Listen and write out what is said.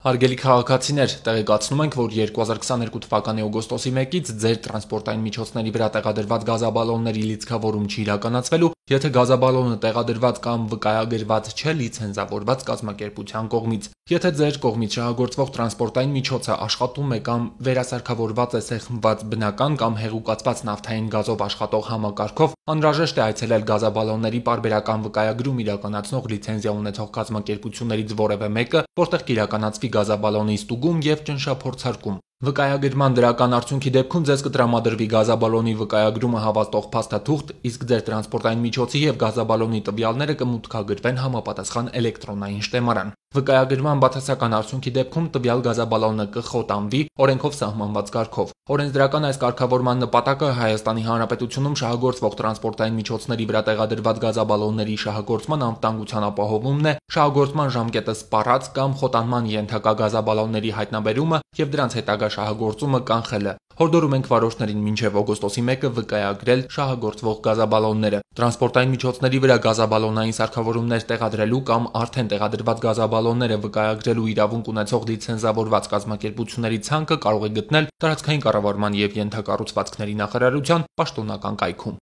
Հարգելի քաղաքացիներ, տեղեկացնում ենք, որ 2022 թվականի օգոստոսի 1-ից ձեր տրանսպորտային միջոցների վրա տեղադրված գազաբալոնների լիցքավորում չի իրականացվելու, եթե գազաբալոնը տեղադրված կամ վկայագրված չէ լիցենզավորված կազմակերպության կողմից։ Եթե ձեր կողմից շահագործվող տրանսպորտային միջոցը աշխատում է կամ վերասարքավորված է սեղմված բնական կամ հեղուկացված նավթային գազով աշխատող համակարգով, անհրաժեշտ է այցելել գազաբալոնների պարբերական վկայագրում իրականացնող լիցենզիա ունեցող կազմակերպություններից որևէ մեկը, որտեղ կիրականացվի գազաբալոնի ստուգում և ճնշափորձարկում։ Վկայագրման դրական արդյունքի դեպքում ձեզ կտրամադրվի գազաբալոնի վկայագրումը հավաստող փաստաթուղթ, իսկ ձեր տրանսպորտային միջոցի և գազաբալոնի տվյալները կմուտքագրվեն համապատասխան էլեկտրոնային շտեմարան։ Վկայագրման բացասական արդյունքի դեպքում տվյալ գազաբալոնը կխոտանվի օրենքով սահմանված կարգով։ Օրենսդրական այս կարգավորման նպատակը Հայաստանի Հանրապետությունում շահագործվող տրանսպորտային միջոցների վրա տեղադրված գազաբալոնների շահագործման անվտանգության ապահովումն է, շահագործման ժամկետը սպառած կամ խոտանման ենթակա գազաբալոնների հայտնաբերումը և դրանց հետագա շահագործումը կանխելը։ Հորդորում ենք վարորդներին մինչև օգոստոսի 1-ը վկայագրել շահագործվող գազաբալոնները։ Տրանսպորտային միջոցների վրա գազաբալոնային սարքավորումներ տեղադրելու կամ արդեն տեղադրված գազաբալոնները վկայագրելու իրավունք ունեցող լիցենզավորված կազմակերպությունների ցանկը կարող է գտնել Տարածքային կառավարման և ենթակառուցվածքների նախարարության պաշտոնական կայքում։